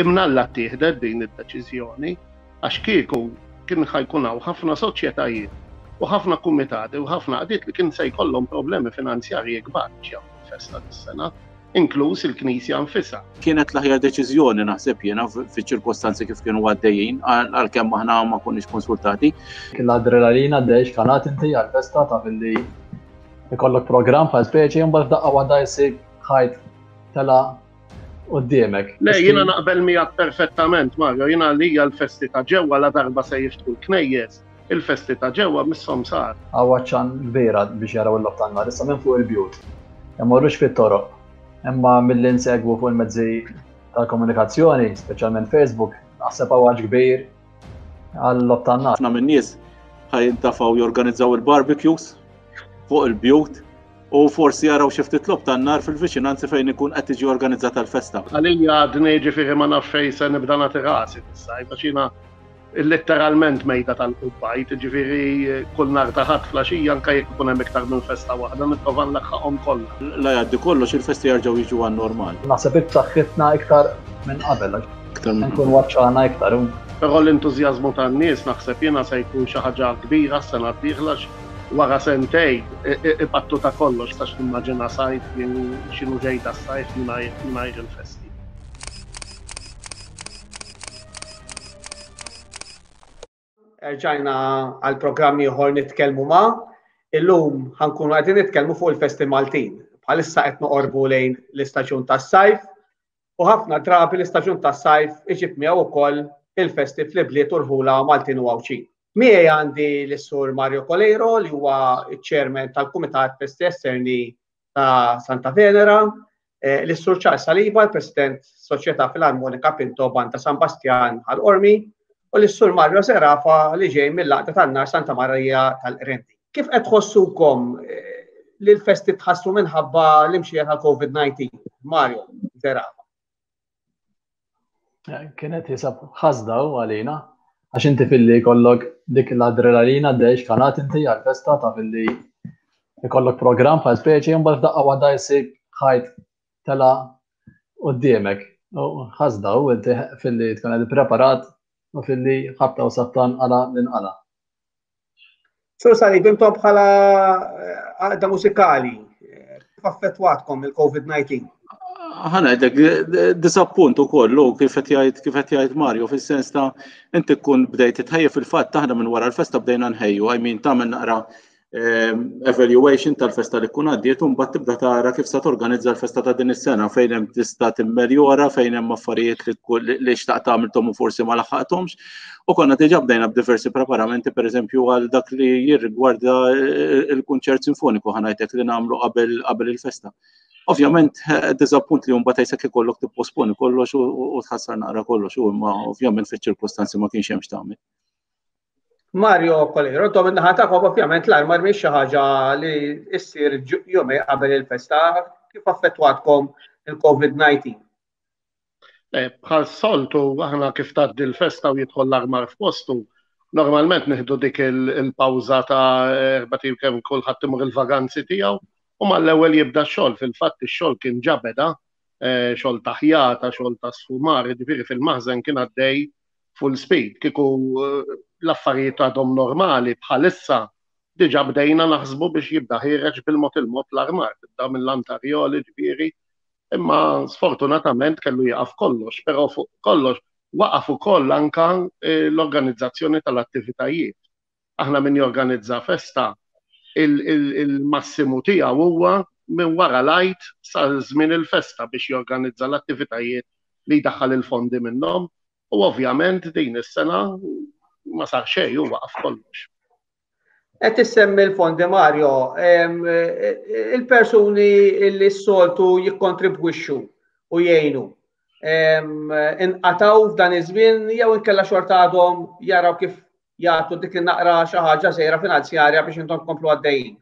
Imnalla ttieħdet din id-deċiżjoni għax kieku kien ħa jkun hawn ħafna soċjetajiet u ħafna kumitati u ħafna għaqdiet li kien se jkollhom problemi finanzjarji kbar biex jagħmlu l-festa dis-sena, inkluż il-Knisja nfisha. Kienet l-aħjar deċiżjoni naħseb jiena fiċ-ċirkostanzi kif kienu għaddejjin għalkemm aħna ma konniex konsultati. Kien l-adrenalina għaddej xkanat inti għall-festa ta' billi ikollok programm bħal speċi mbagħad f'daqqa waħda jsib ħajt tela' quddiemek. Le, jiena naqbel miegħek perfettament, Mario, jiena għalija l-festi ta' ġewwa la darba se jiftħu l-knejjes, il-festi ta' ġewwa misshom sar. Hawn għatxan kbira biex jaraw il-logħob tan-nar issa minn fuq il-bjut. Imorrux fit-toroq. Imma milli nsegwu fuq il-mezzi tal-komunikazzjoni, speċjalment Facebook, naħseb hawn għatx kbir għal-logħob tan-nar. Ħafna min-nies ħa jintafgħu jorganizzaw il-barbecues fuq il-bjut u forsi jaraw xi ftit logħob tan-nar fil-viċinanzi fejn ikun qed tiġi organizzata l-festa. Għalija għadni ġifieri ma nafx fejn se nibda nagħti rasi fis-sajf għax jiena letteralment mejda tal-qubbajt, ġifieri kull nhar ta' Ħadd flaxija anke jekk ikun hemm iktar minn festa waħda nipprova nlaħħaqhom kollha. La jgħaddi kollox il-festi jerġgħu jiġu għan-normal. Naħseb b'saħħitna iktar minn qabel. Iktar minn Nkun waċċana iktar. Però l-entużjażmu tan-nies naħseb jiena se jkun xi ħaġa kbira s-sena d-dieħla Wara sentejn ipattu ta' kollox tax nimmaġina sajf jien x'inhu ġej tas-sajf mingħajr il-festi. Erġajna għal programm ieħor nitkellmu ma' illum ħankunu qegħdin nitkellmu fuq il-festi Maltin. Bħalissa qed noqorbu lejn l-istaġun tas-sajf u ħafna drabi l-istaġun tas-sajf iġib miegħu wkoll il-festi fl-ibliet u rħula Maltin u Għawdxin. Miegħi għandi lis-Sur Mario Coleiro li huwa ċ-Chairman tal-Kumitat Festi Esterni ta' Santa Venera, eh, lis-Sur Charles Saliba, l-President Soċjetà Filarmonika Pinto Banda San Bastjan Ħal Qormi, u lis-Sur Mario Serafa li ġej mill-Għaqda tan-Nar Santa Marija tal-Qrendi. Kif qed tħossukom eh, li l-festi tħassru minħabba l-imxija tal-COVID-19? Mario Serafa. Eh, kienet jisab ħasda u għalina, għax inti filli jkollok dik l-adrenalina dej xkanat inti għal-festa ta' filli jkollok program bħal speċi mbagħad f'daqqa waħda jsib ħajt tela quddiemek. U ħasda u inti filli tkun qed preparat u filli ħabta u sabta nqala l-inqala. Sur Salib, intom bħala eh, għaqda mużikali, eh, kif affettwatkom il-COVID-19? Ħana għedek, disappunt u kollu, kif qed jgħid kif qed jgħid Mario, fis-sens ta' inti tkun bdejt titħejja fil-fatt aħna minn wara l-festa bdejna nħejju, I mean tagħmel naqra Ehm, evaluation tal-festa li kun għaddiet u mbagħad tibda tara kif se torganizza l-festa ta' din is-sena fejn hemm tista' timmeljora, fejn hemm affarijiet li xtaqt tagħmilhom u forsi ma laħħaqthomx. U konna diġà bdejna b'diversi preparamenti pereżempju għal dak li jirrigwarda il-kunċert sinfoniku ħanajtek li nagħmlu qabel qabel il-festa. Ovvjament, eh, diżappunt li mbagħad jisek ikollok tipposponi kollox u tħassar naqra kollox u imma ovvjament fiċ-ċirkostanzi ma kienx hemm x'tagħmel. Mario Kolero, intom in-naħa tagħkom ovvjament l-armar mhix xi ħaġa li ssir jumej qabel il-festa, kif affettwatkom il-COVID-19? Eh, bħal soltu aħna kif tgħaddi l-festa u jidħol l-armar f'postu, normalment nieħdu dik il-pawża ta' erba' kemm kulħadd imur il-vaganzi tiegħu u mal-ewwel jibda x-xogħol. Fil-fatt ix-xogħol kien ġa beda, eh, xogħol ta' ħjata, xogħol ta' sfumar, jiġifieri fil-maħżen kien għaddej full speed. Kieku eh, l-affarijiet għadhom normali bħalissa diġa bdejna naħsbu biex jibda ħireġ bil-mod il-mod l-armar, tibda mill-antarjoli ġifieri Imma sfortunatament kellu jieqaf kollox, però fuq kollox waqaf ukoll anka eh, l-organizzazzjoni tal-attivitajiet. Aħna min jorganizza festa il-massimu tiegħu huwa minn wara l-Għid sa żmien il-festa biex jorganizza l-attivitajiet li jdaħħal il-fondi minnhom u ovvjament din is-sena ma sar xejn u waqaf kollox. Qed issemmi l-fondi Mario, il-persuni li s-soltu jikkontribwixxu u jgħinu inqataw f'dan iż-żmien jew inkella xorta għadhom jaraw kif jagħtu dik in-naqra xi ħaġa żgħira finanzjarja biex intom tkomplu għaddejjin.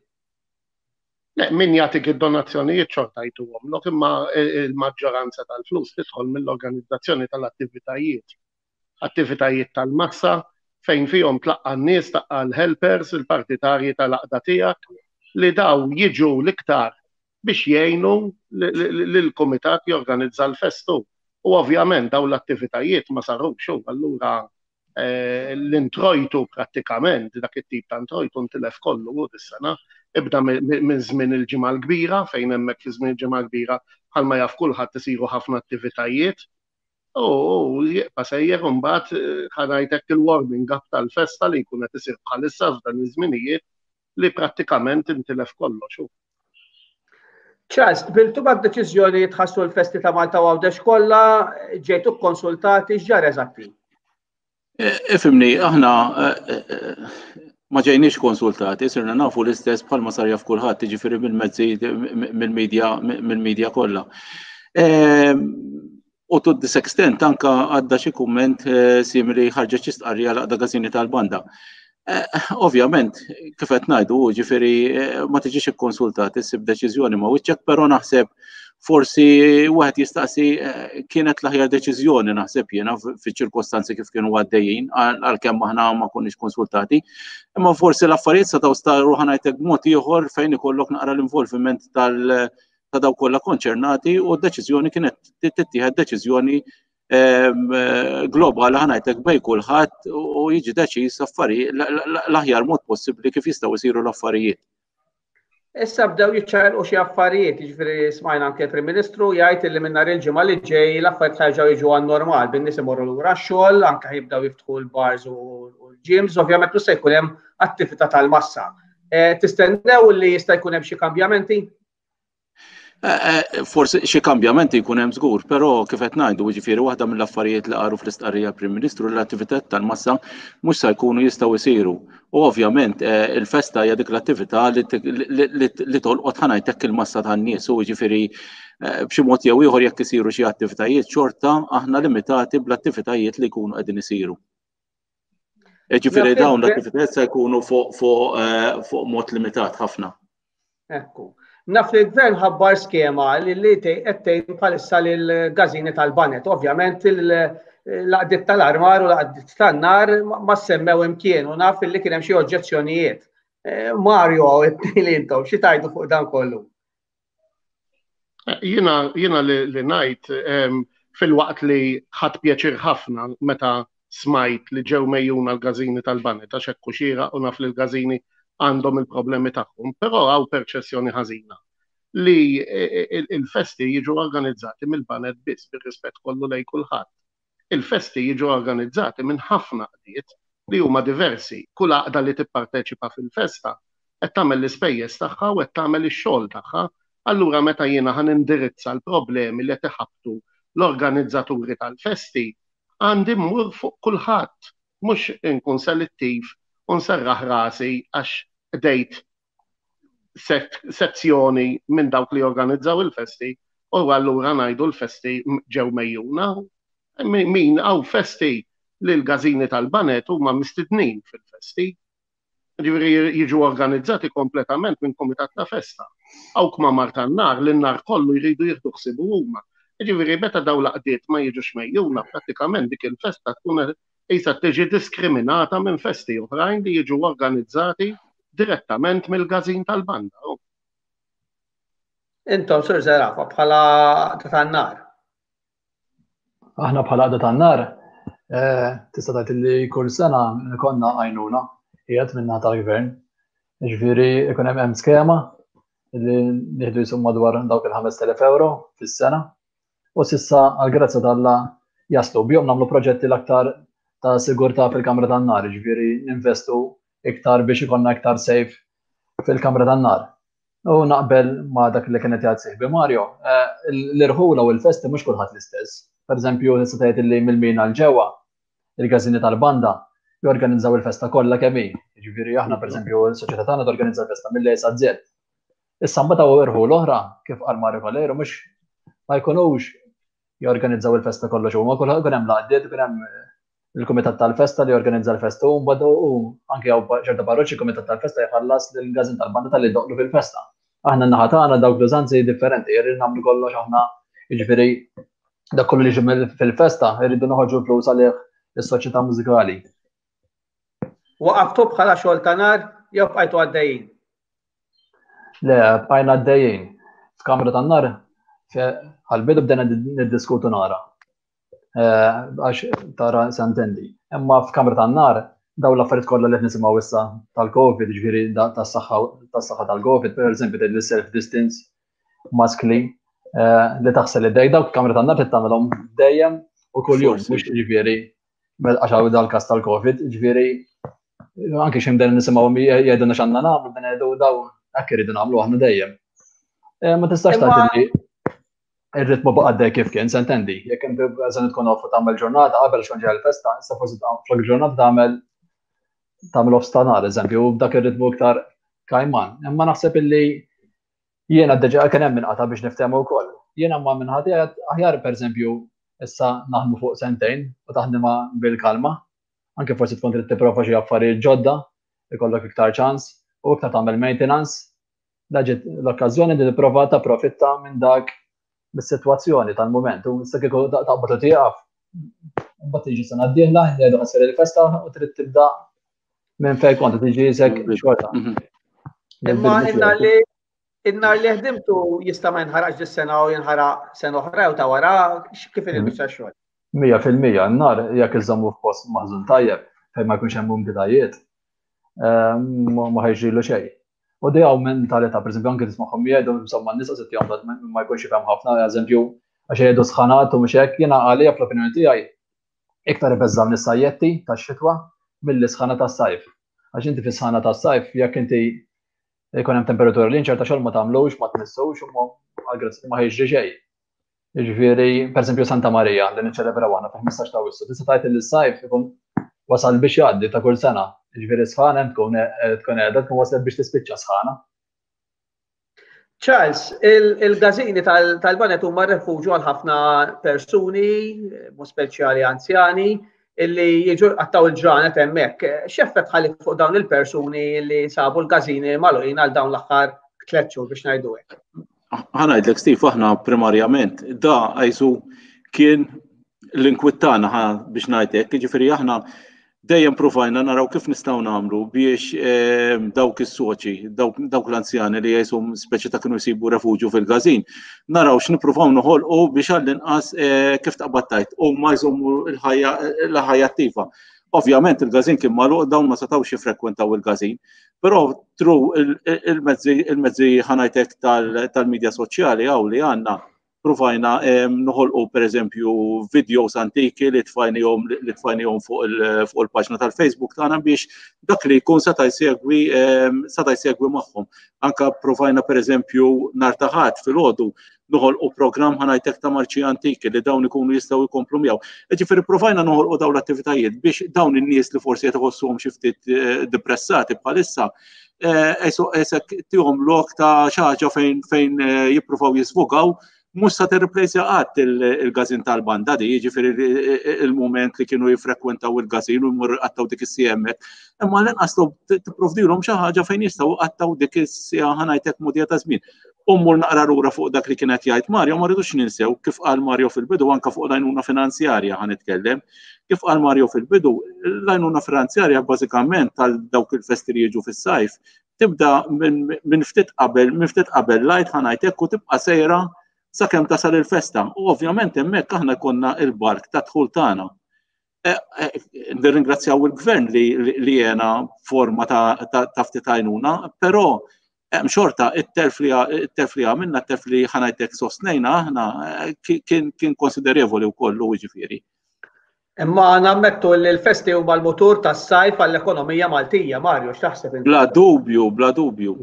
Le, min jagħtik id-donazzjonijiet xorta jtuhomlok, imma il-maġġoranza tal-flus tidħol mill-organizzazzjoni tal-attivitajiet. Attivitajiet tal-massa fejn fihom tlaqqa' n-nies, tlaqqa' l-helpers, il-partitarji tal-għaqda tiegħek li daw jiġu l-iktar biex jgħinu lill-kumitat jorganizza l-festu. U ovvjament dawn l-attivitajiet ma sarux u allura eh, l-introjtu prattikament, dak it-tip ta' introjtu ntilef kollu u dis-sena, ibda minn żmien il-ġimgħa l-kbira fejn hemmhekk fi żmien il-ġimgħa l-kbira bħalma jaf kulħadd isiru ħafna attivitajiet u jibqa' sejjer imbagħad eh, ħanajtek il-warming up tal-festa li jkun qed isir bħalissa f'dan iż-żminijiet li prattikament intilef kollox. Charles, qbiltu mad-deċiżjoni li tħassru l-festi ta' Malta u Għawdex kollha, ġejtu kkonsultati, x'ġara eżatti? E, ifimni, aħna e, e, ma ġejniex konsultati, sirna nafu l-istess bħalma sar jaf kulħadd, jiġifieri mill-mezzi mill-medja mill-medja kollha. U to this extent anka għadda xi kumment eh, simili ħarġet xi stqarrija l-għaqda Gazzini tal-Banda. Eh, ovvjament, kif qed ngħidu, ġifieri eh, ma tiġix ikkonsultat issib deċiżjoni ma wiċċek, però naħseb forsi wieħed jistaqsi kienet l-aħjar deċiżjoni naħseb jiena fiċ-ċirkostanzi kif kienu għaddejjin għalkemm aħna ma konniex konsultati. Imma forsi l-affarijiet setgħu staru ħanajtek b'mod ieħor fejn ikollok naqra l-involviment tal- ta' dawk kollha konċernati u d-deċiżjoni kienet tittieħed deċiżjoni ehm, globali ħanajtek bej kulħadd u jiġi deċiż affarijiet l-aħjar mod possibbli kif jistgħu jsiru l-affarijiet. Issa bdew jiċċaqilqu xi affarijiet, jiġifieri smajna anke l-Prim Ministru jgħid li minn nhar il-ġimgħa li ġej l-affarijiet ħa jerġgħu jiġu għan-normal, bin-nies imorru lura x-xogħol, anke jibdew jiftħu l-bars u l-gyms, ovvjament mhux se jkun hemm attività tal-massa. Eh, tistennew li jista' jkun hemm xi kambjamenti? Eh, eh, forsi xi kambjamenti jkun hemm żgur, però kif qed ngħidu, jiġifieri waħda mill-affarijiet li qalu fl-istqarrija Prim Ministru l-attività tal-massa mhux se jkunu jistgħu jsiru. U ovvjament eh, il-festa hija dik l-attività li tolqot ħanajtek il-massa tan-nies u jiġifieri b'xi mod jew ieħor jekk isiru xi attivitajiet xorta aħna limitati bl-attivitajiet li jkunu qegħdin isiru. Ġifieri dawn l-attivitajiet se jkunu eh, fuq mod limitat ħafna. Ekku. Naf li l-gvern ħabbar skema li li qed tgħin bħalissa lil gażini tal-banet. Ovvjament l-għaqdiet tal-armar u l-għaqdiet tan-nar ma semmew imkien u naf li kien hemm xi oġġezzjonijiet. Eh, Mario, li intom, xi tajdu fuq dan kollu? Jiena jiena li, li ngħid filwaqt li ħadt pjaċir ħafna meta smajt li ġew mejjuna l-gażini tal-Baned għax hekk hu xieraq u naf li l-gażini għandhom il-problemi tagħhom, però hawn perċessjoni ħażina li il-festi jiġu organizzati mill-baned biss bir-rispett kollu lejn kulħadd. Il-festi jiġu organizzati minn ħafna għaqdiet li huma diversi. Kull għaqda li tipparteċipa fil-festa qed tagħmel l-ispejjeż tagħha u qed tagħmel ix-xogħol tagħha. Allura meta jiena ħa nindirizza l-problemi li qed iħabbtu l-organizzaturi tal-festi, għandi mmur fuq kulħadd, mhux inkun selettiv u nserraħ rasi għax qdejt sezzjoni minn dawk li jorganizzaw il-festi u allura ngħidu l-festi ġew mejjuna. Min hawn festi li l-gażini tal-banet huma mistednin fil-festi. Ġifieri jiġu organizzati kompletament minn kumitat ta' festa. Hawn kmamar tan-nar li n-nar kollu jridu jieħdu ħsiebu huma. Ġifieri meta dawn l-għaqdiet ma jiġux mejjuna prattikament dik il-festa tkun qisha tiġi diskriminata minn festi oħrajn li jiġu organizzati direttament mill-każin tal-banda. Intom, Sur Zerafa, bħala għaqda tan-nar. Aħna bħala għaqda tan-nar, eh, tista' tgħid li kull sena konna għajnuna qiegħed minna tal-gvern. Ġifieri ikun hemm skema li nieħdu jisum madwar dawk il-5000 euro fis-sena u s'issa għall-grazzja t'Alla jaslu. Bihom nagħmlu proġetti l-aktar ta' sigurtà fil-kamra tan-nar, jiġifieri ninvestu iktar biex ikollna iktar safe fil-kamra tan-nar. U naqbel ma' dak li kien qed jgħid sieħbi Mario, eh, l-irħula u l-festi mhux kulħadd l-istess. Pereżempju, tista' tgħid li mill-mina l ġewwa il-każini tal-banda jorganizzaw il-festa kollha kemm hi. Jiġifieri aħna pereżempju s-soċjetà tagħna torganizza l-festa mill-A sa Z. Issa mbagħad hawn irħul oħra, kif qal Mario Valero, mhux ma jkunux jorganizzaw il-festa kollox huma, kulħadd ikun hemm l-għaqdiet, ikun hemm il-kumitat tal-festa li jorganizza l-festa u mbagħad u anke hawn ċerta parroċċi kumitat tal-festa jħallas lill-każin tal-banda talli jdoqqlu fil-festa. Aħna n-naħa tagħna dawk l-użanzi differenti, irridu nagħmlu kollox aħna, jiġifieri dak kollu li jiġi fil-festa irridu noħorġu l-flus għalih is-soċjetà mużikali. Waqaftu bħala xogħol ta' nar jew bqajtu għaddejjin? Le, bqajna għaddejjin. F'kamra tan-nar, għal-bidu bdejna niddiskutu nara. Eh, għax tara santendi. Imma f'kamra tan-nar daw l-affarijiet kollha li qed nisimgħu issa tal-COVID, ġifieri tas-saħħa tal-COVID, per eżempju tgħid self distance, maskli, eh, li taħsel id-dej dawk kamra tan-nar trid tagħmelhom dejjem u kuljum, mhux ġifieri għax hawn dal-każ tal-COVID, ġifieri anke xi mden nisimgħu jgħidulna x'għandna nagħmlu, bden jgħidu daw hekk iridu nagħmlu aħna dejjem. Eh, ma tistax tgħid li ir-ritmu baqa' dej kif kien, sentendi. Jekk inti eżempju tkun off tagħmel ġurnata qabel xogħol ġej il-festa, issa forsi flok ġurnata tagħmel tagħmel off stanar, eżempju, u b'dak ir-ritmu iktar kajman. Imma naħseb illi jiena diġà kien hemm inqata' biex niftehmu wkoll. Jiena ma minħati aħjar pereżempju issa naħdmu fuq sentejn u taħdimha bil-kalma. Anke forsi tkun trid tipprova xi affarijiet ġodda, ikollok iktar ċans u iktar tagħmel maintenance La ġiet l-okkażjoni li tipprova tapprofitta minn dak mis-sitwazzjoni tal-mument. U issa kieku taqbad u tieqaf, mbagħad tiġi sena d-dieħla, jgħidu ħassir il-festa u trid tibda minn fejn kont tiġi isek xorta. Mhm. Imma inna li innar li ħdimtu jista' ma jinħaraqx dis-sena u jinħaraq sena oħra jew ta' wara kif il-biċċa xogħol. 100% n-nar jekk iżommu f'post maħżun tajjeb fejn ma jkunx hemm umditajiet, eh, ma ħajġrilu xejn. U di hawn mentalità, pereżempju anke tismagħhom jgħidu insomma n-nies qas ittihom ma jkunx jifhem ħafna, eżempju għax jgħidu sħanat u mhux hekk, jiena għalija fl-opinjoni tiegħi iktar ibeżżgħu is-sajjetti tax-xitwa milli sħana tas-sajf. Għax inti fis-sħana tas-sajf jekk inti jkun hemm temperatura li ċerta xogħol ma tagħmlux, ma tmissux u ma jiġri xejn. Jiġifieri, pereżempju Santa Marija li niċċelebraw aħna fil-15 ta' Awwissu, tista' tgħid li s-sajf ikun wasal biex jgħaddi ta' kull sena. Jiġifieri sħana hemm tkun eh, tkun qiegħda tkun waslet biex tispiċċa sħana. Charles, il-gazini tal-banet huma refuġju għal ħafna persuni, mu speċjali anzjani, illi jiġu għattaw il-ġranet hemmhekk. X'effett ħalli fuq dawn il-persuni li sabu l-gazini magħluqin għal dawn l-aħħar tliet xhur biex ngħidu hekk? Ħa ngħidlek Steve, aħna primarjament da għajsu kien l-inkwittana biex ngħidlek, jiġifieri aħna dejjem provajna naraw kif nistgħu nagħmlu biex ehm, dawk is-soċi, dawk l-anzjani li jgħisum speċi ta' kienu jsibu refuġju fil-każin, naraw x'nippruvaw noħolqu biex għall-inqas eh, kif taqbad tajt u ma jżommu l-ħajja attiva. Ovvjament il-każin kien magħluq dawn ma setgħux jiffrekwentaw il-każin, Però tru il-mezzi il-mezzi ħanajtek tal-medja soċjali għaw li għandna provajna noħolqu per eżempju videos antiki li tfajnihom li tfajnihom fuq il-paġna tal-Facebook tagħna biex dak li jkun seta' jsegwi seta' jsegwi magħhom. Anka provajna per eżempju nhar ta' Ħadd filgħodu noħolqu programm ħanajtek ta' marċi antiki li dawn ikunu jistgħu jkomplu miegħu. Ġifieri provajna noħolqu dawn l-attivitajiet biex dawn in-nies li forsi qed iħossuhom xi ftit eh, depressati bħalissa eh, esek tihom lok ta' xi ħaġa fejn fejn eh, jippruvaw jisvugaw mhux sa tirreplejsja qatt il-gazin tal-banda di, jiġifieri il-mument li kienu jiffrekwentaw il-gazin u jmorru jqattaw dik is-siegħa hemmhekk. Imma l-inqas tipprovdilhom xi ħaġa fejn jistgħu jqattaw dik is-siegħa ħanajtek mudija ta' żmien. U mmur naqra lura fuq dak li kien qed jgħid Mario, ma rridux ninsew kif qal Mario fil-bidu anke fuq l-għajnuna finanzjarja ħa nitkellem. Kif qal Mario fil-bidu, l-għajnuna finanzjarja bażikament tal dawk il-festi li jiġu fis-sajf tibda minn ftit qabel, minn ftit qabel lajt ħa ngħid hekk u tibqa' sejra sakemm tasal il-festa. U ovvjament hemmhekk aħna konna il-bark ta' dħul tagħna. Eh, eh, nirringrazzjaw il-gvern li jena forma ta' ftit għajnuna, però hemm xorta it-telf li it-telf li għamilna, it-telf li ħanajtek sostnejna aħna eh, kien konsiderevoli wkoll jiġifieri. Imma nammettu li l-festi huma l-mutur tas-sajf għall-ekonomija Maltija, Mario, x'taħseb inti? Bla dubju, bla dubju.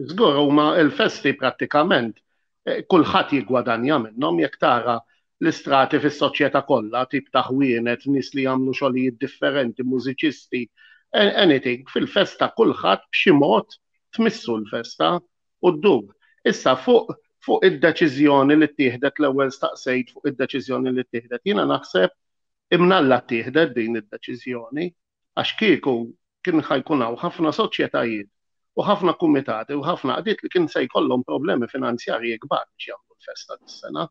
Żgur huma l-festi prattikament eh, kulħadd jiggwadanja minnhom jekk tara l-istrati fis-soċjetà kollha, tip ta' ħwienet, nies li jagħmlu xogħlijiet differenti, mużiċisti, anything, fil-festa kulħadd b'xi mod tmissu l-festa u ddur. Issa fuq fuq id-deċiżjoni li ttieħdet l-ewwel staqsejt fuq id-deċiżjoni li ttieħdet. Jiena naħseb imnalla ttieħdet din id-deċiżjoni għax kieku kien ħa jkun hawn ħafna soċjetajiet u ħafna kumitati u ħafna għaqdiet li kien se jkollhom problemi finanzjarji kbar biex jagħmlu l-festa dis-sena,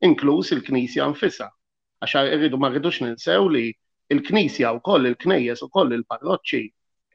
inkluż il-Knisja nfisha. Għax irridu ma rridux ninsew li l-Knisja wkoll, il-knejjes ukoll, il-parroċċi,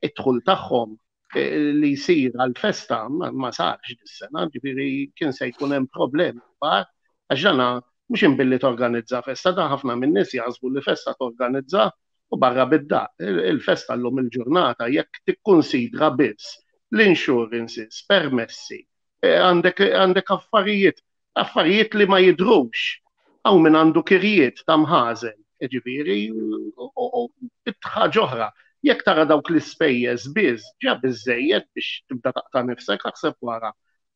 id-dħul tagħhom eh, li jsir għall-festa ma sarx dis-sena, ġifieri kien se jkun hemm problemi kbar għax dana. Mhux imbilli torganizza festa, da ħafna min-nies jaħsbu li festa torganizza u barra bid-daqq. Il-festa llum il-ġurnata jekk tikkunsidra biss l-insurances, permessi, eh, għandek għandek affarijiet, affarijiet li ma jidhrux. Hawn min għandu kirjiet ta' mħażen, ġifieri, u ħaġa oħra. Jekk tara dawk l-ispejjeż biss, ġa biżejjed biex tibda taqta' nifsek aħseb wara.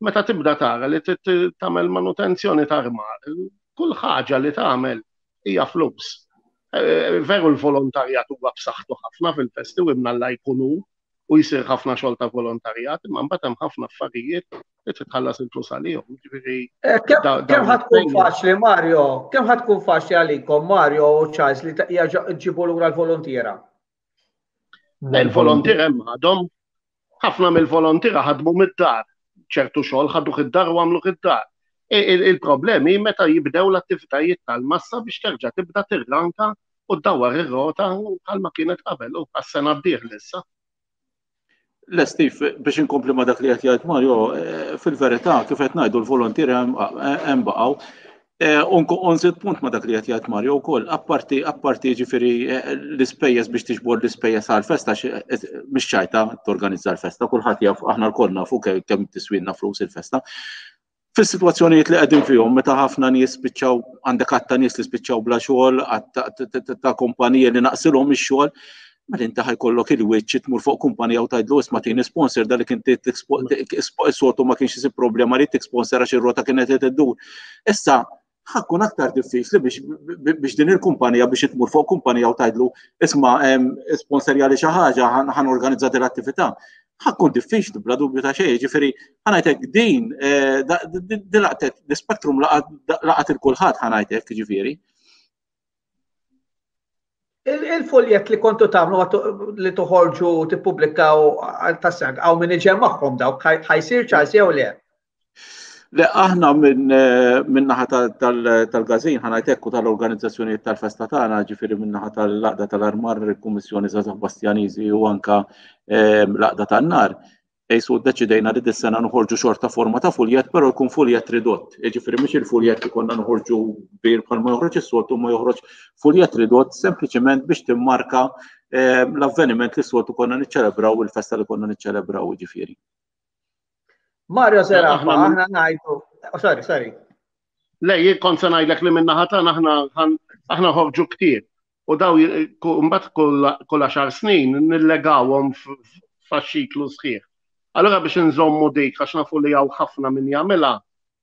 Meta tibda tara li tagħmel manutenzjoni ta' armar, kull ħaġa li tagħmel hija flus. Eh, veru l-volontarjat huwa b'saħħtu ħafna fil-festi u imnalla jkun hu u jsir ħafna xogħol ta' volontarjat, imma mbagħad hemm ħafna affarijiet li titħallas il-flus għalihom. Ġifieri eh, kemm ħad tkun faċli Mario, kemm ħad tkun faċli għalikom Mario u Charles li ġibu lura l-volontiera? Il-volontiera hemm għadhom ħafna mill-volontiera ħadmu mid-dar, ċertu xogħol ħaduh id-dar u għamluh id-dar. Il-problemi meta jibdew l-attivitajiet tal-massa biex terġa' tibda tirranka u ddawwar ir-rota bħalma kienet qabel u għas-sena d-dieħla issa. Le Steve, biex inkompli ma dak li qed jgħid Mario, eh, fil-verità kif qed ngħidu l-volontieri hemm baqgħu. Eh, Unżid punt ma dak li qed jgħid Mario wkoll, apparti apparti ġifieri eh, l-ispejjeż biex tiġbor l-ispejjeż għall-festa mhix ċajta torganizza l-festa, kulħadd jaf aħna lkoll nafu kemm tiswilna flus il-festa. Fis-sitwazzjonijiet li qegħdin fihom meta ħafna nies spiċċaw għandek għadd ta' nies li spiċċaw bla xogħol, għadd ta' kumpaniji li naqsilhom ix-xogħol, mela inti ħajkollok il-wiċċ tmur fuq kumpanija u tgħidlu isma' tieni sponsor dak li kien soltu ma kienx isib problema li tik sponsor għax ir-rota kienet qed iddur. Issa ħakkun aktar diffiċli biex din il-kumpanija biex tmur fuq kumpanija u tgħidlu isma' sponsorja li xi ħaġa ħan organizza din l-attività. Ħakkun diffiċli bla dubju ta' xejn, ġifieri ħanajtek din eh, din laqtet l-spektrum laqat il-kulħadd ħanajtek ġifieri. Il-foljet li kontu tagħmlu li toħorġu tippubblikaw tas-sena hawn min iġemmagħhom dawk ħajsir ċans jew le? Le aħna minn eh, naħa tal-gazin ħanajtek u tal-organizzazzjonijiet tal-festa tagħna, ġifieri minn naħa tal-laqda tal-armar, il-Kummissjoni Żgħażagħ Bastjaniżi u anka eh, l-laqda tan-nar. Ejsu ddeċidejna li dis-sena noħorġu xorta forma ta' fuljet, però jkun fuljet ridott. Jiġifieri mhux il-fuljet li konna noħorġu kbir bħalma joħroġ is-soltu, ma joħroġ fuljet ridott sempliċement biex timmarka eh, l-avveniment li s-soltu konna niċċelebraw il-festa li konna niċċelebraw ġifieri. Mario Zerafa, aħna ngħidu. Oh, sorry, sorry. Le, jien kont se ngħidlek li minna ħatan aħna aħna ħorġu ktieb. U daw mbagħad kull għaxar snin nillegawhom f'faxxiklu sħiħ. Allura biex inżommu dik għax nafu li hawn ħafna min jagħmilha,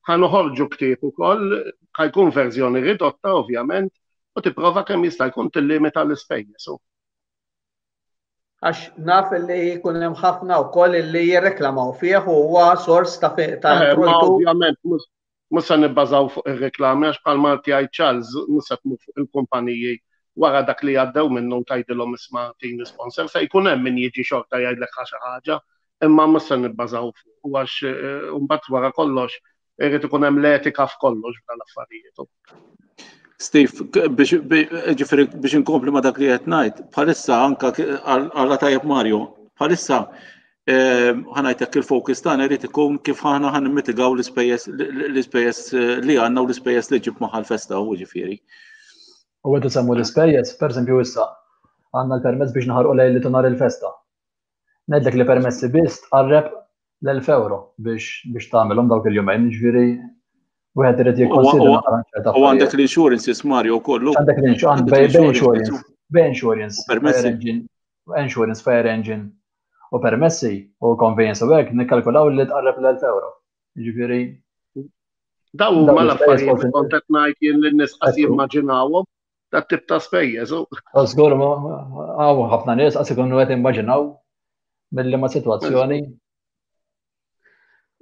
ħa noħorġu ktieb ukoll, ħa jkun verżjoni ridotta ovvjament, u tipprova kemm jista' jkun tillimita l-ispejjeż. Għax naf li jkun hemm ħafna wkoll li jirreklamaw fih u huwa sors ta' ta' eh, introjtu. Ovvjament, mhux se nibbażaw fuq ir-reklami għax bħalma jgħid Charles mhux se tmur fuq il-kumpaniji wara dak li għaddew minnu tgħidilhom isma' tini sponsor se jkun hemm min jiġi xorta jgħidlek xi ħaġa, imma mhux se nibbażaw fuq għax eh, mbagħad wara kollox Irrid ikun hemm l-etika f'kollox f'dan l-affarijiet. Steve, biex ġifieri biex inkompli ma dak li qed ngħid, bħalissa anka għalla tajjeb Mario, bħalissa eh, ħanajtek il-fokus tagħna jrid ikun kif aħna ħan mitigaw l-ispejjeż l-ispejjeż eh, li għandna u l-ispejjeż li ġib magħha l-festa u ġifieri. U għedu semmu l-ispejjeż, per eżempju issa, għandna l-permess biex naħarqu lejli nhar il-festa. Ngħidlek li permessi biss tqarreb l-1000 euro biex biex tagħmilhom dawk il-jumejn, ġifieri wieħed irid jikkonsidra ċerta U għandek l-insurances Mario kollu. Għandek l-insurance, insurance, insurance, fire engine, insurance, fire engine u permessi u conveyance u hekk nikkalkulaw li tqarreb l-1000 euro. Ġifieri Daw huma l-affarijiet li kont qed ngħid jien lin-nies qas jimmaġinawhom dat tip ta' spejjeż. Żgur hawn ħafna nies qas ikunu qed immaġinaw mill-liema sitwazzjoni.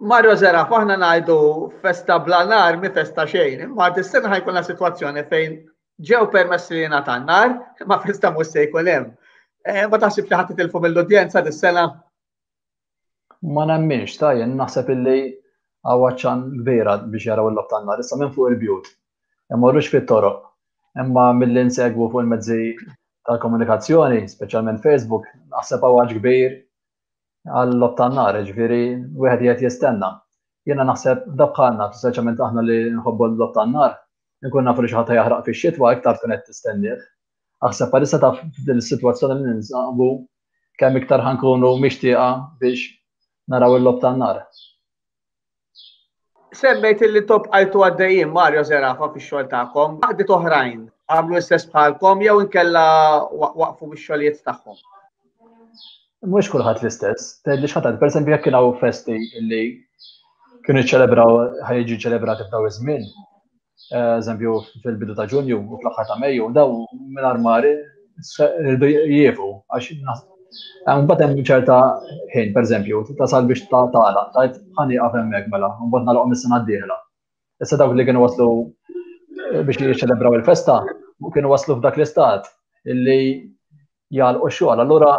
Mario Zeraf, aħna ngħidu festa bla nar mi festa xejn, imma dis-sena ħajkunna sitwazzjoni fejn ġew permessi li jingħata nar, imma festa mhux se jkun hemm. Eh, ma taħsib li ħadd titilfu mill-udjenza dis-sena? Ma nemminx, ta' jien naħseb illi hawn għatxan kbira biex jaraw il-logħob tan-nar issa minn fuq il-bjut. Imorrux fit-toroq. Imma milli nsegwu fuq il-mezzi tal-komunikazzjoni, speċjalment Facebook, naħseb hawn għatx kbir għal-logħob tan-nar, jiġifieri wieħed qiegħed jistenna. Jiena naħseb da bħalna, speċjalment aħna li nħobbu l-logħob tan-nar, nkun nafu li xi ħadd jaħraq fix-xitwa iktar tkun qed tistennieh. Aħseb bħalissa taf f'din is-sitwazzjoni li ninsabu kemm iktar ħankunu mixtieqa biex naraw il-logħob tan-nar. Semmejt illi intom bqajtu għaddejjin Mario Zerafa fix-xogħol tagħkom, għaqdiet oħrajn għamlu l-istess bħalkom jew inkella waqfu mix-xogħlijiet tagħhom? Mhux kulħadd l-istess, tgħidli x'ħadd, pereżempju jekk kien hawn festi illi kienu ċċelebraw ħajġu ċelebrati f'daw iż-żmien, eżempju fil-bidu ta' Ġunju u fl-aħħar ta' Mejju, daw mingħajr mari rridu jiefu għax Mbagħad hemm ċerta ħin, pereżempju, tasal biex tagħlaq, tgħid ħa nieqaf hemmhekk mela, mbagħad nagħlaqhom is-sena d-dieħla. Issa dawk li kienu waslu eh, biex jiċċelebraw il-festa, kienu waslu f'dak l-istat illi jagħlqu x-xogħol, allura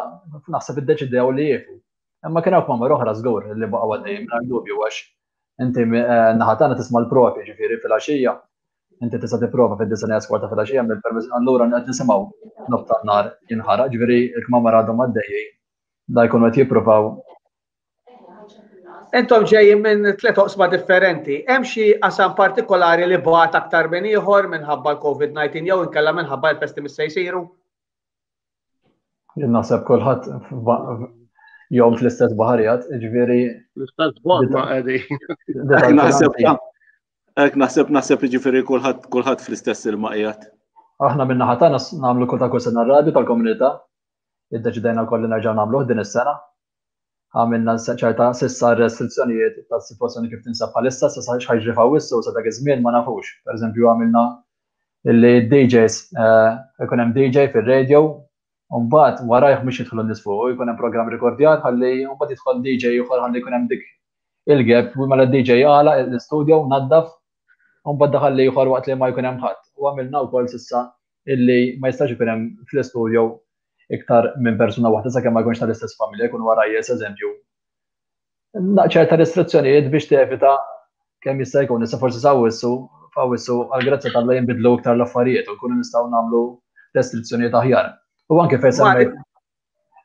naħseb iddeċidew li jiefu. Imma kien hawn kmamar oħra żgur li baqgħu għaddejjin mingħajr dubju għax inti eh, naħa tagħna tisma' l-provi ġifieri fil-għaxija. Inti tista' tipprova fid-disa' kwarta fil-għaxija mill-permess allura qed nisimgħu nob tan-nar jinħaraq, ġifieri l-kmamar għadhom għaddejjin da jkunu qed jippruvaw Intom ġejjin minn tliet oqsma differenti. Hemm xi qasam partikolari li bagħat aktar minn ieħor minħabba l-COVID-19 jew inkella minħabba l-festi mis se jsiru? Jien naħseb kulħadd jom fl-istess baħarijat, ġifieri. L-istess bot ma qegħdin. Naħseb hekk naħseb naħseb ġifieri kulħadd kulħadd fl-istess ilma qiegħed. Aħna minn naħa tagħna nagħmlu kull ta' kull sena r-radju tal-komunità. Iddeċidejna wkoll li nerġgħu nagħmluh din is-sena. Għamilna ċerta s'issa restrizzjonijiet tas-sitwazzjoni kif tinsab bħalissa, sa x'ħajġri f'Awwissu sa dak iż-żmien ma nafux. Pereżempju għamilna illi DJs eh, ikun hemm DJ fir-radio u mbagħad warajh mhux jidħlu n-nies fuq, jkun hemm programm rekordjat ħalli mbagħad jidħol DJ ieħor ħalli jkun hemm dik il-gap u mela DJ għala l-istudio naddaf u mbagħad daħal ieħor waqt li ma jkun hemm ħadd. U għamilna wkoll s'issa illi ma jistax ikun hemm fl-istudio iktar minn persuna waħda sakemm ma jkunx tal-istess familja jkunu għarajjes eżempju. Ċerta restrizzjonijiet biex tevita kemm jista' jkun issa forsi s'Awwissu f'Awwissu għall-grazzja t'Alla jinbidlu iktar l-affarijiet u nkunu nistgħu nagħmlu restrizzjonijiet aħjar. U anke fejn semmejt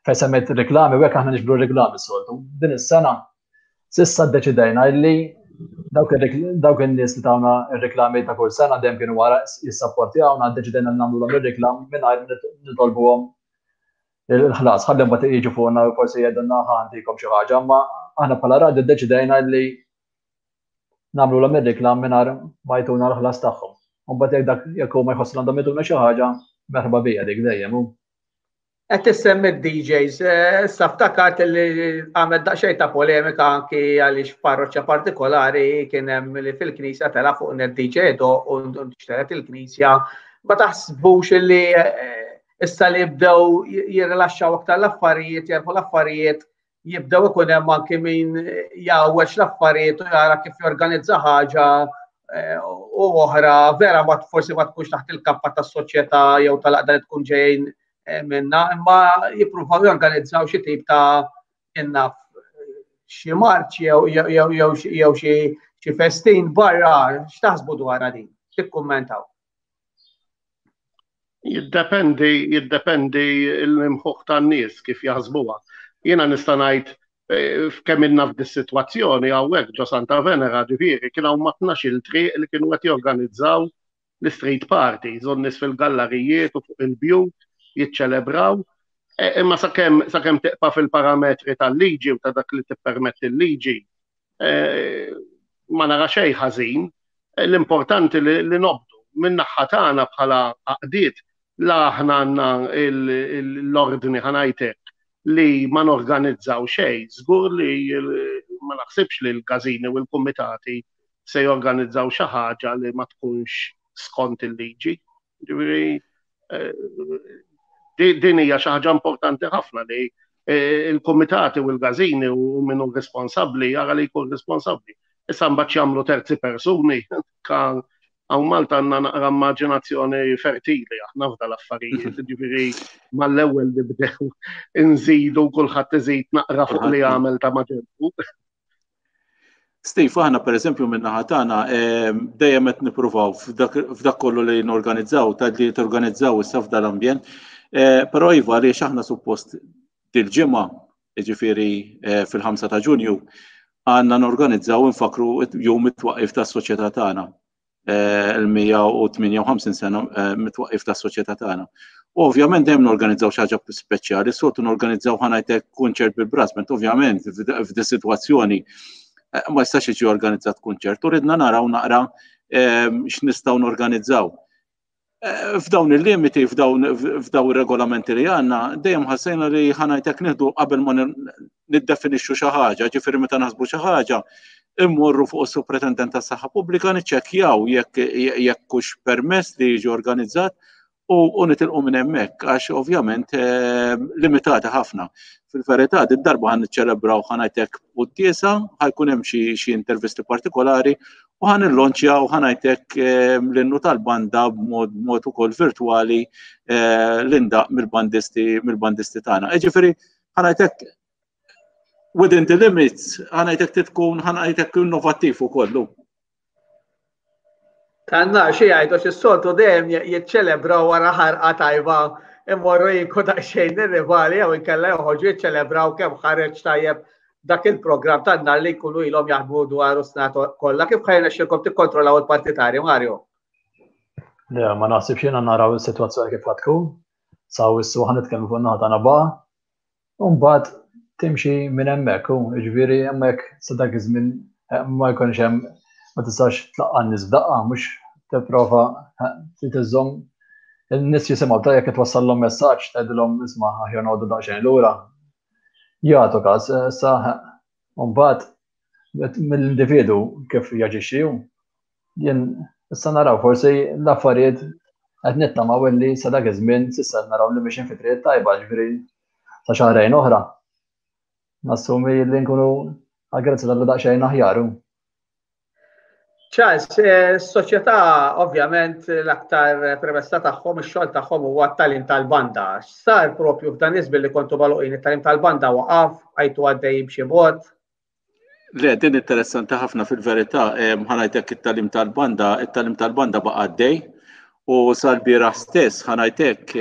fejn semmejt reklami u hekk aħna niġbru reklami s-soltu. Din is-sena S'issa ddeċidejna illi dawk in-nies li tawna r-reklami ta' kull sena dejjem kienu wara jissapportjawna, ddeċidejna li nagħmlulhom ir-reklam mingħajr nitolbuhom il-ħlas. Ħalli mbagħad jiġu fuqna u forsi jgħidulna ħa ntikom xi ħaġa, imma aħna bħala radju ddeċidejna illi nagħmlulhom ir-reklam mingħajr ma jtuna l-ħlas tagħhom. U mbagħad jekk dak jekk huma jħossu li għandhom jtuna xi ħaġa, merħba bija dik dejjem. Qed issemmi d-DJs, eh, issa ftakart li għamel daqsxejn ta' polemika anki għaliex f'parroċċa partikolari kien hemm li fil-knisja tela' fuq net DJ do u nxteret il-knisja. Ma taħsbux li eh, issa li jibdew jirrilaxxaw aktar l-affarijiet, jerħu l-affarijiet, jibdew ikun hemm anki min jgħawweġ l-affarijiet u jara kif jorganizza ħaġa eh, u oħra vera ma forsi ma tkunx taħt il-kappa tas-soċjetà jew tal-aqda li tkun ġejjin eh, minna, imma jippruvaw jorganizzaw xi tip ta' innaf xi marċ jew xi festin barra, x'taħsbu dwar din? Tikkummentaw. Jiddependi, jiddependi l-imħuħ tan-nies kif jaħsbuha. Jiena nista' ngħid eh, f'kemm ilna f'dis-sitwazzjoni hawnhekk ġo Santa Venera ġifieri kien hawn ma' tnax-il triq li kienu qed jorganizzaw l-street parties u n-nies fil-gallarijiet u fuq il-bjut jiċċelebraw. Eh, imma sakemm sakemm tiqpa' fil-parametri tal-liġi u ta' dak li tippermetti l-liġi, eh, ma nara xejn ħażin. Eh, l-importanti li nobdu min-naħa tagħna bħala għaqdiet la aħna għandna l-ordni ħanajtek li ma norganizzaw xejn, żgur li ma naħsibx li l-każini u l-kumitati se jorganizzaw xi ħaġa li ma tkunx skont il-liġi. Ġifieri eh, din hija xi ħaġa importanti ħafna li eh, il-komitati u l-gazini u minnu responsabbli jara li jkun responsabbli. Issa mbagħad jagħmlu terzi persuni kan hawn Malta għandna naqra immaġinazzjoni fertili aħna f'da l-affarijiet, ġifieri mal-ewwel li bdew inżidu kulħadd iżid naqra fuq li għamel ta' maġenbu. Steve, aħna per eżempju minn naħa tagħna ehm, dejjem qed nippruvaw f'dak kollu li norganizzaw, ta' li torganizzaw issa f'dal-ambjent. Eh, però iva għaliex aħna suppost dil-ġimgħa, jiġifieri eh, fil-5 ta' Ġunju, għandna norganizzaw infakru jum it-twaqqif tas-soċjetà tagħna. Il-158 sena mit-twaqqif tas-soċjetà tagħna. U ovvjament dejjem norganizzaw xi ħaġa speċjali, soltu norganizzaw ħa ngħidlek kunċert bil-brass band, ovvjament f'di sitwazzjoni ma jistax jiġi organizzat kunċert u ridna naraw naqra x'nistgħu norganizzaw. F'dawn il-limiti, f'dawn ir-regolamenti li għandna, dejjem ħassejna li ħa ngħidlek nieħdu qabel ma niddefinixxu xi ħaġa, ġifieri meta naħsbu xi ħaġa, immorru fuq is-Supretendent tas-Saħħa Pubblika niċċekkjaw jekk jekk hux permess li jiġi organizzat u nitilqu minn hemmhekk għax ovvjament eh, limitati ħafna. Fil-verità, din darba ħan niċċelebraw ħa ngħidlek quddiesa, ħajkun hemm xi intervisti partikolari u ħan nillonċjaw ħa ngħidlek eh, l-innu tal-banda b'mod mod ukoll virtwali eh, l-indaq mill-bandisti mill-bandisti tagħna. Ġifieri ħa ngħidlek within the limits ħa ngħidlek tkun ħa ngħidlek innovattiv ukoll. Tanna xi jgħidu xi soltu dejjem jiċċelebraw wara ħarqa tajba imorru jinku daqsxejn ir-rivali jew inkella joħorġu jiċċelebraw kemm ħareġ tajjeb dak il-programm tan-nar li jkunu ilhom jaħdmu dwar sena kollha. Kif ħajna xilkom tikkontrollaw il-partitarji, Mario? Le, ma naħsibx jiena naraw is-sitwazzjoni kif tkun. Saw issu ħa nitkellmu fuq naħa tagħna baqa' U mbagħad timxi minn hemmhekk, u jiġifieri hemmhekk sa dak iż-żmien eh, ma jkunx hemm ma tistax tlaqqa' n-nies f'daqqa, mhux tipprova eh, trid iżżomm in-nies jisimgħu ta' jekk twassallhom messaġġ tgħidilhom isma' aħjar noqogħdu daqsxejn lura. Jagħtu każ, eh, sa u mbagħad mill-individu kif jaġixxi hu. Jien issa naraw forsi l-affarijiet qed nittamaw illi sa dak iż-żmien s'issa naraw li mixin fi triq tajba, ġifieri sa xahrejn oħra. Nassumi li nkunu għal-grazzi tal daqsxejn aħjar. Charles, eh, s-soċjetà ovvjament l-aktar premessa tagħhom, ix-xogħol tagħhom huwa t-talim tal-banda. Sar propju f'dan iż-żmien li kontu magħluqin it-talim tal-banda waqaf, għajtu għaddej b'xi mod. Le, din interessanti ħafna fil-verità, ħa ngħidlek it-talim tal-banda, it-talim tal-banda baqa' għaddej u sal-bieraħ stess ħa ngħidlek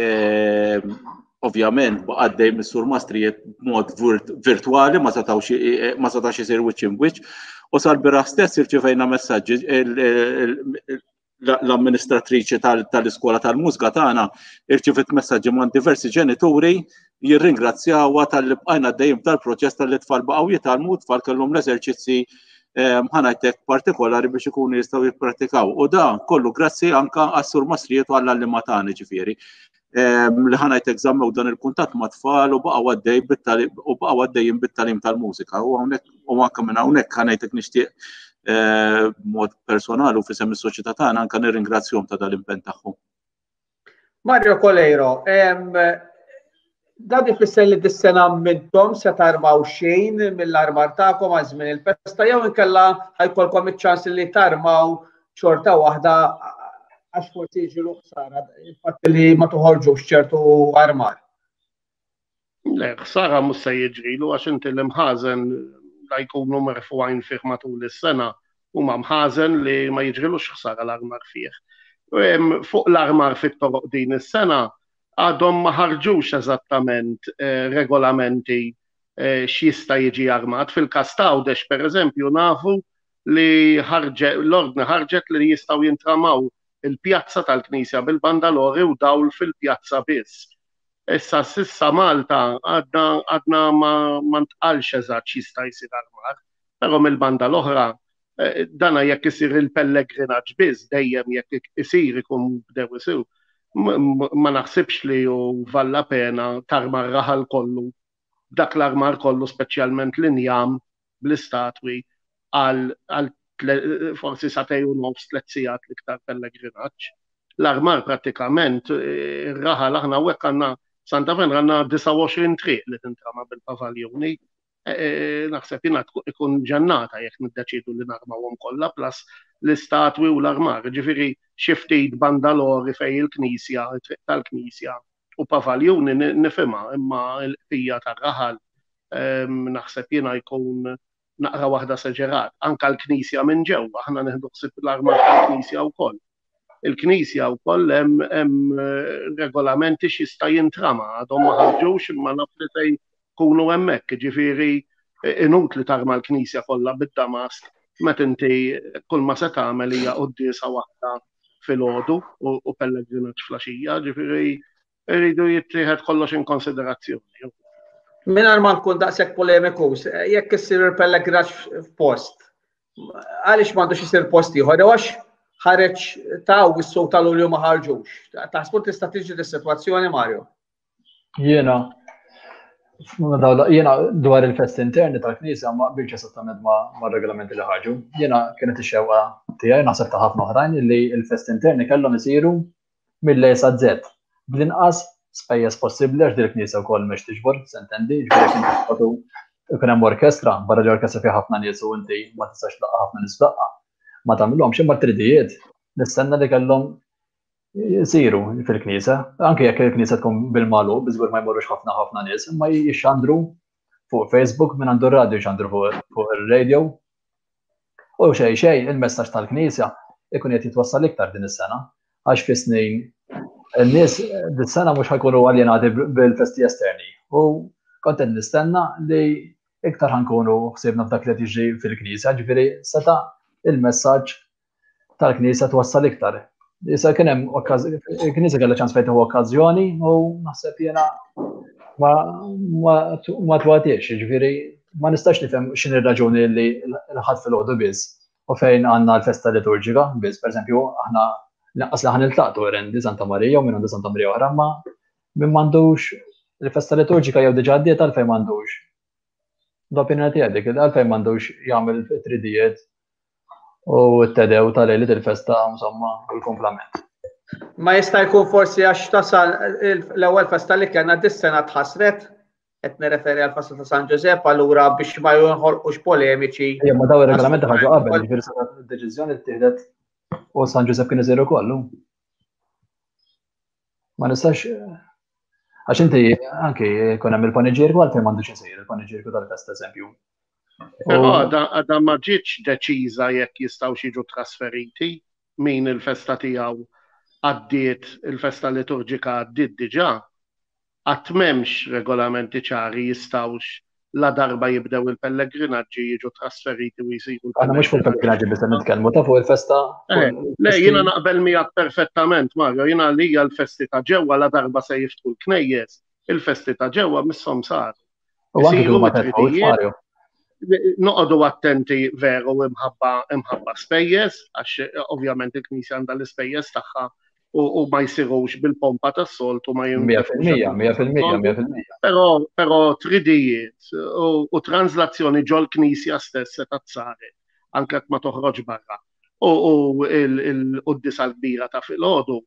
ovvjament baqa' għaddej mis-sur mastrijiet b'mod virtwali ma setgħux ma setax isir wiċċ imwiċċ u sal-bieraħ stess irċivejna messaġġi l-amministratriċi tal-iskola tal-mużika tagħna irċivit messaġġi man diversi ġenituri jirringrazzjawha tal-li bqajna dejjem tal-proċess tal-li tfal baqgħu jitgħallmu tfal kellhom l-eżerċizzi ehm, ħanajtek partikolari biex ikunu jistgħu jipprattikaw. U da kollu grazzi anka għas-sur Masrijiet u għall-għallima tagħna ġifieri. Li ħa ngħidlek żammew dan il-kuntatt ma' tfal u baqgħu għaddej u baqgħu għaddejjin bit-talim tal-mużika. U hawnhekk u anke minn hawnhekk ħa ngħidlek nixtieq eh, b'mod personali u fisem is-soċjetà tagħna anke nirringrazzjahom ta' dal-impenn tagħhom. Mario Coleiro, dan ifisser li dis-sena minnhom se tarmaw xejn mill-armar tagħkom għal żmien il-festa jew inkella ħajkolkom iċ-ċans li tarmaw xorta waħda għax forsi jiġilu ħsara il-fatt li ma toħorġux ċertu armar. Le, ħsara mhux se jiġrilu għax inti l-imħażen la jkunu merfugħin fih matul is-sena huma mħażen li ma jiġrilux ħsara l-armar fih. Fuq l-armar fit-toroq din is-sena għadhom ma ħarġux eżattament eh, regolamenti eh, x'jista' jiġi armat. Fil-każ ta' Għawdex pereżempju nafu li ħarġet l-ordni ħarġet li jistgħu jintramaw il-pjazza tal-Knisja bil-bandalori u dawl fil-pjazza biss. Issa s'issa Malta għadna għadna ma, ma ntqalx eżatt x'jista' jsir armar, però mill-banda l-oħra eh, dana jekk isir il-pellegrinaġġ biss dejjem jekk isir ikun bdew isir. Ma naħsibx li hu valla pena tarma r-raħal kollu dak l-armar kollu speċjalment l-injam bl-istatwi għal forsi sagħtejn u nofs, tlett sigħat l-iktar pellegrinaġġ. L-armar prattikament, ir-raħal aħna hawnhekk għandna Santa Venera għandna 29 triq li tintrama bil-pavaljuni. E, e, naħseb jiena ikun ġennata jekk niddeċidu li narmawhom kollha plus l-istatwi u l-armar. Ġifieri xi ftit bandalori fejn il-knisja, it-triq tal-knisja u pavaljuni nifhimha, imma l-qtija tar-raħal naħseb jiena jkun naqra waħda seġerat. Anka l-knisja minn ġewwa, aħna nieħdu ħsieb l-armar tal-knisja wkoll. Il-knisja wkoll hemm eh, regolamenti x'jista' jintrama, għadhom ma ħarġux imma naf li se jkunu hemmhekk, ġifieri eh, inutli tarma l-knisja kollha bid-damask. meta inti kull ma se tagħmel hija quddiesa waħda filgħodu u pellegrinaġġ flaxija, ġifieri rridu jittieħed kollox in konsiderazzjoni. Mingħajr ma nkun daqshekk polemikus, jekk issir il-pellegrinaġġ f'post, għaliex m'għandux isir post ieħor, jew għax ħareġ ta' wissu tal-Lulju ma ħarġux. Taħsbu tista' tiġi dis-sitwazzjoni, Mario? Jiena jiena dwar il-festi interni tal-Knisja ma qbilx esattament ma' regolamenti li ħarġu. Jiena kienet ix-xewqa tiegħi naħseb ta' ħafna oħrajn li l-festi interni kellhom isiru mill-A sa Z bl-inqas spejjeż possibbli għax dil-knisja wkoll mhux tiġbor, sentendi, ġifieri jekk inti toqgħodu ikun hemm orkestra, barra li orkestra fiha ħafna nies u inti ma tistax tlaqqa' ħafna nies f'daqqa. Ma tagħmilhomx imma t-tridijiet nistenna li kellhom jsiru fil-knisja, anke jekk il-knisja tkun bil-magħluq, biżgur ma jmorrux ħafna ħafna nies, imma jixxandru fuq Facebook minn għandu r-radio jxandru fuq ir-radio U xejn xejn il-messaġġ tal-Knisja ikun qed jitwassal iktar din is-sena għax fi snin in-nies dis-sena mhux ħajkunu aljenati bil-festi esterni. U kont qed nistenna li iktar ħankunu ħsiebna f'dak li qed jiġri fil-Knisja, ġifieri seta' il-messaġġ tal-Knisja twassal iktar. Issa kien hemm il-Knisja kellha ċans fejn tieħu okkażjoni u naħseb jiena ma ma twatiex, jiġifieri ma nistax nifhem x'inhi r-raġuni li l-Ħadd filgħodu biss u fejn għandna l-festa liturġika biss, pereżempju aħna lanqas li ħa niltaqtu Rendi Santa Marija u min għandu Santa Marija oħra, imma min m'għandux il-festa liturġika jew diġà għaddiet għalfejn m'għandux. L-opinjoni tiegħi dik għalfejn m'għandux jagħmel tridijiet u t-tedew ta' lejliet il-festa insomma u l-kumplament. Ma jista' jkun forsi għax tasal l-ewwel festa li kellna dis-sena tħassret, qed nirreferi għal festa ta' San Ġużepp, allura biex ma jinħolqux polemiċi. Ejja, ma daw ir-regolamenti ħarġu qabel, ġifieri sa deċiżjoni ttieħdet u San Ġużepp kien isir ukoll. Ma nistax għax inti anki jkun hemm il-paniġierku għalfejn m'għandux isir il-paniġierku tal-festa eżempju. Però għadha ma ġietx deċiża jekk jistgħux jiġu trasferiti min il-festa tiegħu għaddiet il-festa liturġika għaddiet diġà. Għad m'hemmx regolamenti ċari jistgħux la darba jibdew il-pellegrinaġġi jiġu trasferiti u jsiru. Aħna mhux fuq il-pellegrinaġġi biss nitkellmu ta' fuq il-festa. Eh, le, jiena naqbel miegħek perfettament, Mario, jiena li hija l-festi ta' ġewwa la darba se jiftħu l-knejjes, il-festi ta' ġewwa misshom saru. U anke kieku ma fetħux, Mario. Noqogħdu attenti veru imħabba imħabba spejjeż, għax eh, ovvjament il-Knisja għandha l-ispejjeż tagħha u ma jsirux bil-pompa tas-soltu ma jim. 100%, 100%, 100%. Però però tridijiet u translazzjoni ġol knisja stess se saret anke ma toħroġ barra. U il-quddisa l-kbira ta' filgħodu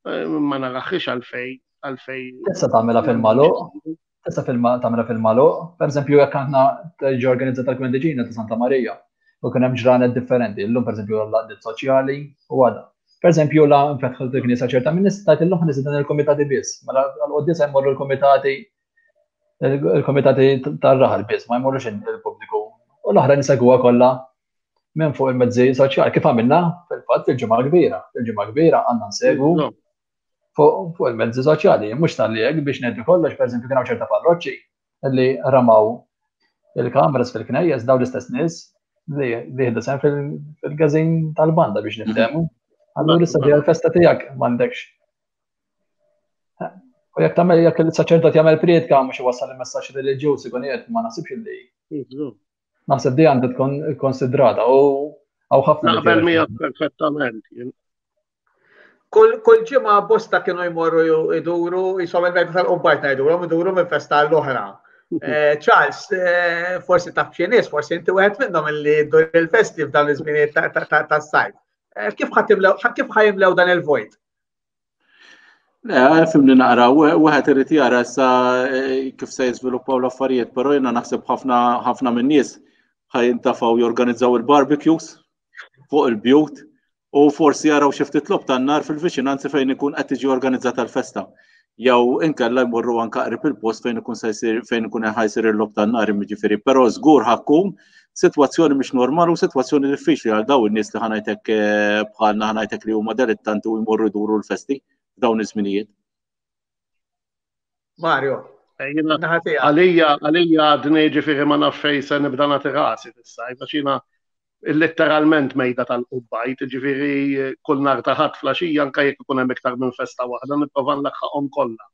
eh, ma naraħħiex għalfej għalfej. Tista' tagħmilha fil-magħluq, Tista' tagħmilha fil-magħluq, pereżempju jekk aħna tiġi organizzata l-Kwendiġina ta' Santa Marija u kien hemm ġranet differenti, illum pereżempju l-għaqdiet soċjali u għada. Pereżempju la nfetħu l-knisja ċerta minn nies tajt illum ħa dan il-komitati biss, mela għall-quddiesa jmorru l-komitati il-komitati tar-raħal biss, ma jmorrux il-pubbliku. U l-oħra nisegwuha kollha minn fuq il-mezzi soċjali kif għamilna fil-fatt fil-ġimgħa kbira. Fil-ġimgħa kbira għandna nsegwu fuq il-mezzi soċjali, mhux talli hekk biex ngħidu kollox, pereżempju kien hawn ċerta parroċċi li ramaw il-kameras fil-knejjes daw l-istess nies li jieħdu sehem fil-gazin tal-banda biex niftehmu. Allura issa ġejja l-festa tiegħek m'għandekx. U jekk tagħmel jekk il-saċerdot jagħmel prietka mhux iwassal il-messaġġ reliġjuż ikun qiegħed ma naħsibx li. Naħseb di għandha tkun konsidrata u għaw ħafna. Naqbel miegħek perfettament. Kull ġimgħa bosta kienu jmorru iduru, jisom il-mejda tal-qubbajt ngħidulhom, iduru minn festa l-oħra. Eh, Charles, eh, forsi taf xi nies, forsi inti wieħed minnhom illi ddur il-festi f'dawn iż-żminijiet tas-sajf. Eh, kif kif ħajimlew dan il-vojt? Le, fimni naqra, wieħed irid jara issa kif se jiżviluppaw l-affarijiet, però jiena naħseb ħafna ħafna min-nies ħajintafgħu jorganizzaw il-barbecues fuq il-bjut u forsi jaraw xi ftit logħob tan-nar fil-viċinanzi fejn ikun qed tiġi organizzata l-festa. Jew inkella jmorru anke qrib il-post fejn ikun se jsir fejn ikun ħajsir il-logħob tan-nar jiġifieri, però żgur ħakkun sitwazzjoni mhix normali u sitwazzjoni diffiċli għal dawn in-nies li ħanajtek eh, bħalna ħanajtek li huma dilettanti u jmorru jduru l-festi f'dawn iż-żminijiet. Mario, eh, Għalija, għalija għadni ġifiri ma naf fejn se nibda nagħti rasi fis-sajf, għax jiena. Letteralment mejda tal-qubbajt, ġifieri kull nhar ta' Ħadd flaxija anke jekk ikun hemm iktar minn festa waħda nipprova nlaħħaqhom kollha.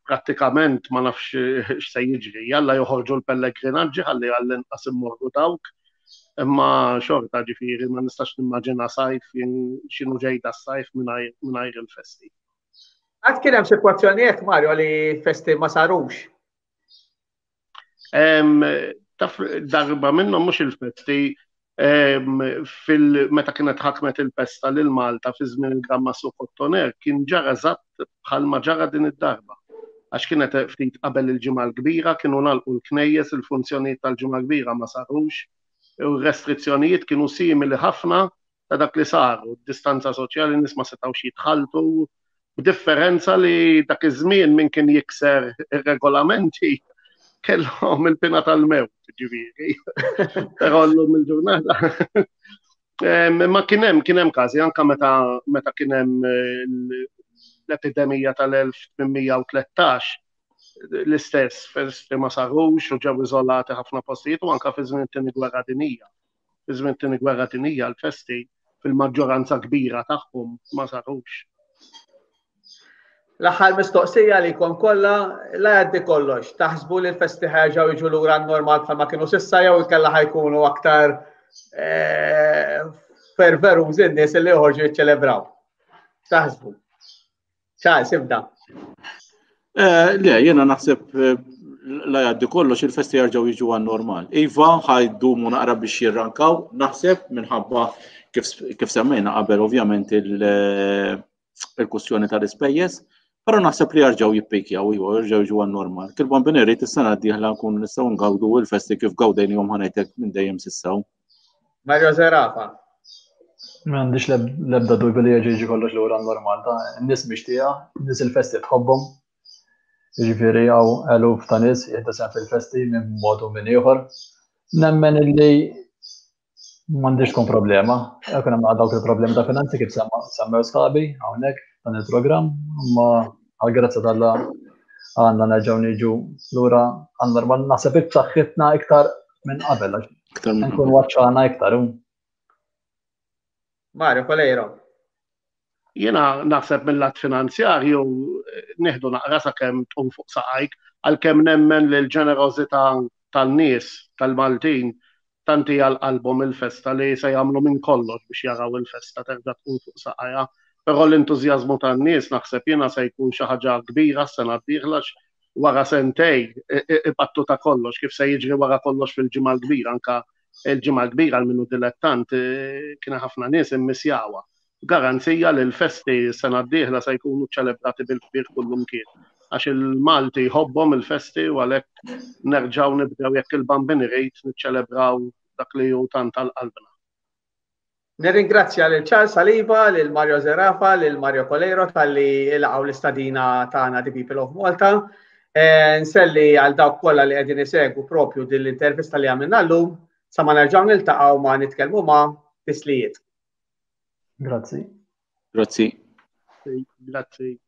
Prattikament ma nafx x'se jiġri. Jalla joħorġu l-pellegrinaġġi ħalli għall-inqas immorru dawk. Imma xorta ġifieri ma nistax nimmaġina sajf x'inhu ġejda s-sajf mingħajr il-festi. Għad kien hemm sitwazzjoni hekk Mario li festi ma sarux. Taf darba minnhom mhux il-festi fil-meta kienet ħakmet il-pesta lil Malta fi żmien il-Gran Mastru Kottoner kien ġara eżatt bħalma ġara din id-darba. Għax kienet ftit qabel il-Ġimgħa l-Kbira kienu ngħalqu l-knejjes, il-funzjonijiet tal-Ġimgħa l-Kbira ma sarux, u r-restrizzjonijiet kienu simili ħafna ta' dak li saru, distanza soċjali, nies ma setgħux jitħalltu, b'differenza li dak iż-żmien min kien jikser ir-regolamenti kellhom il-pina tal-mewt, ġifieri. Però llum il-ġurnata. Ma kien hemm kien hemm każi anke meta meta kien hemm eh, l-epidemija tal-1813 l-istess festi ma sarux u ġew iżolati ħafna postijiet u anke fi żmien it-tieni gwerra dinija. Fi żmien it-Tieni Gwerra Dinjija l-festi fil-maġġoranza kbira tagħhom ma sarux. L-aħħar mistoqsija li jkun kollha la jgħaddi kollox. Taħsbu li l-festi ħerġgħu jiġu lura normal bħalma kienu sissa jew inkella ħajkunu aktar eh, ferverużi n-nies li joħorġu jiċċelebraw. Taħsbu. Charles, ibda. Eh, le, jena naħseb eh, la jgħaddi kollox il-festi jarġaw jiġu għan normal. Iva, ħajdumu naqra biex jirrankaw, naħseb minħabba kif semmejna qabel ovvjament eh, il-kustjoni tal-ispejjeż, però naħseb li jarġaw jippikjaw, iva, jarġaw jiġu għan normal. Kil bambin irrid is-sena d-dieħla nkunu nistgħu ngawdu il-festi kif gawdejnihom ħanajtek minn dejjem sissaw. Mario Zerafa. M'għandix l-ebda dubju li jerġa' jiġi kollox lura normal ta' n-nies mixtieqa, n-nies il-festi tħobbhom. Jiġifieri hawn eluf ta' nies jieħdu sehem fil-festi minn mod u minn ieħor. Nemmen illi m'għandix tkun problema. Jekk hemm dawk il-problemi ta' finanzi kif semmew sħabi hawnhekk dan il-programm, imma għall-grazzja t'Alla għandna nerġgħu niġu lura għan-normal naħseb b'saħħitna iktar minn qabel għax nkun waċċana iktar. Mario Coleiro. Jiena naħseb mill-lat finanzjarju nieħdu naqra sakemm tqum fuq saqajk għalkemm nemmen li l-ġenerożità tan-nies tal-Maltin tant hi għal qalbhom il-festa li se jagħmlu minn kollox biex jaraw il-festa terġa' tqum fuq saqajha. Però l-entużjażmu tan-nies naħseb jiena se jkun xi ħaġa kbira s-sena d-dieħla għax wara sentej ipattu ta' kollox kif se jiġri wara kollox fil-Ġimgħa l-Kbira anke il-Ġimgħa l-Kbira għal min hu dilettant kien ħafna nies immissjawha. Garanzija li l-festi s-sena d-dieħla se jkunu ċċelebrati bil-kbir kullumkien. Għax il-Malti jħobbhom il-festi u għalhekk nerġgħu nibdew jekk il-Bambin irid niċċelebraw dak li hu tant għal qalbna. Nirringrazzja lil Charles Saliba, lil Mario Zerafa, lil Mario Coleiro talli laqgħu l-istadina tagħna The People of Malta. Eh, nselli għal dawk kollha li qegħdin isegwu propju din l-intervista li għamilna llum sa ma nerġgħu niltaqgħu ma nitkellmu ma' tislijiet. Grazzi. Grazzi. Grazzi.